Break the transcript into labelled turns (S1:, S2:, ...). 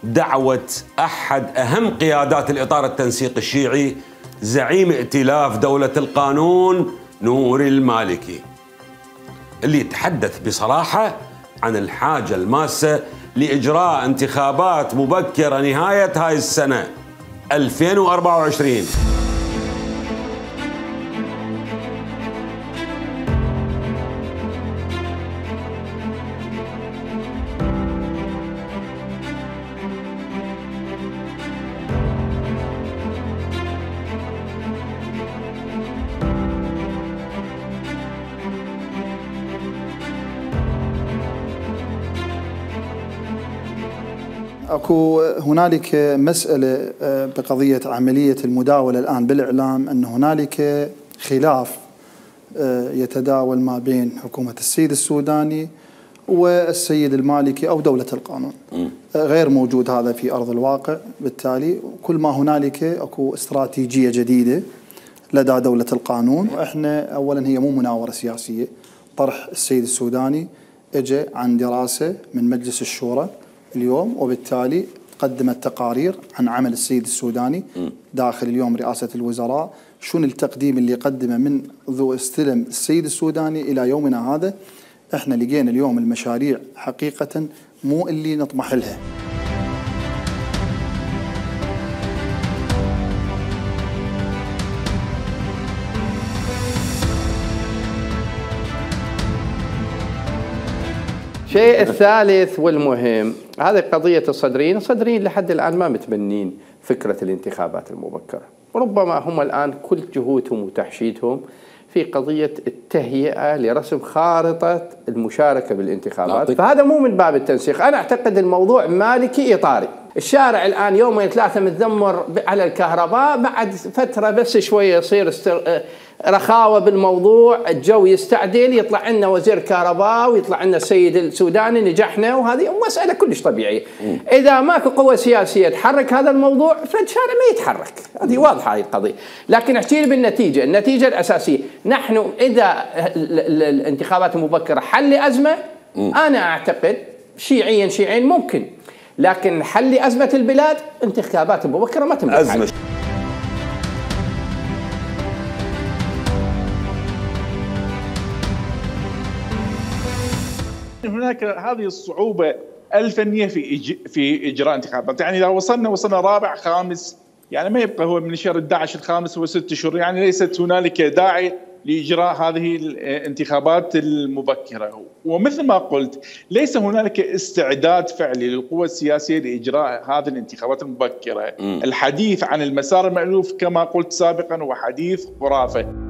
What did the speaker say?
S1: دعوة أحد أهم قيادات الإطار التنسيقي الشيعي زعيم ائتلاف دولة القانون نوري المالكي، اللي يتحدث بصراحة عن الحاجة الماسة لإجراء انتخابات مبكرة نهاية هاي السنة 2024.
S2: هنالك مسألة بقضية عملية المداولة الآن بالإعلام، أن هنالك خلاف يتداول ما بين حكومة السيد السوداني والسيد المالكي أو دولة القانون. غير موجود هذا في أرض الواقع، بالتالي كل ما هنالك أكو استراتيجية جديدة لدى دولة القانون. وإحنا أولا هي مو مناورة سياسية، طرح السيد السوداني اجى عن دراسة من مجلس الشورى اليوم، وبالتالي قدمت تقارير عن عمل السيد السوداني داخل اليوم رئاسة الوزراء، شنو التقديم اللي قدمه من ذو استلم السيد السوداني إلى يومنا هذا. احنا لقينا اليوم المشاريع حقيقة مو اللي نطمح لها.
S3: الشيء الثالث والمهم هذه قضية الصدريين لحد الآن ما متبنين فكرة الانتخابات المبكرة، وربما هم الآن كل جهودهم وتحشيدهم في قضية التهيئة لرسم خارطة المشاركة بالانتخابات. فهذا مو من باب التنسيق، أنا أعتقد الموضوع مالكي إطاري. الشارع الآن يومين ثلاثة متذمر على الكهرباء، بعد فترة بس شوية يصير رخاوة بالموضوع، الجو يستعدل، يطلع لنا وزير كهرباء ويطلع لنا السيد السوداني نجحنا، وهذه مسألة كلش طبيعية. إذا ماكو قوة سياسية تحرك هذا الموضوع فالشارع ما يتحرك، هذه واضحة هذه القضية. لكن احكي لي بالنتيجة، النتيجة الأساسية نحن إذا الانتخابات المبكرة حل أزمة، أنا أعتقد شيعيا ممكن، لكن حل أزمة البلاد انتخابات مبكرة ما تملك
S1: أزمة.
S4: هناك هذه الصعوبة الفنية في إجراء انتخابات. يعني إذا وصلنا رابع خامس، يعني ما يبقى هو من شهر 11 الخامس هو 6 شهور، يعني ليست هنالك داعي لإجراء هذه الانتخابات المبكرة. ومثل ما قلت ليس هنالك استعداد فعلي للقوى السياسية لإجراء هذه الانتخابات المبكرة. الحديث عن المسار المألوف كما قلت سابقا هو حديث خرافة.